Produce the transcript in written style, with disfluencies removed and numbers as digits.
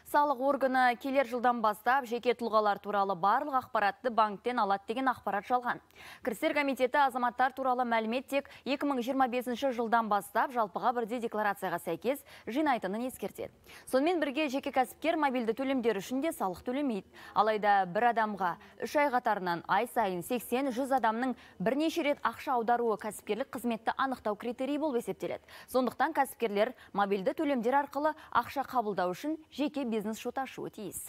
Салық органы келер жылдан бастап жеке тұлғалар туралы барлық ақпаратты банктен алады деген ақпарат жалған. Кірістер комитеті азаматтар туралы мәлімет тек 2025 жылдан бастап жалпыға бірдей декларацияға сәйкес жинайтынын ескертеді. Сонымен бірге жеке кәсіпкер мобильді төлемдер үшін де салық төлемейді. Алайда бір адамға 3 ай қатарынан ай сайын 80-100 адамның бірнеше рет ақша аударуы кәсіпкерлік қызметті анықтау критерийі болып есептеледі. Сондықтан кәсіпкерлер мобильді төлемдер арқылы ақша қабылдау үшін жеке бизнес шот ашуы тиіс.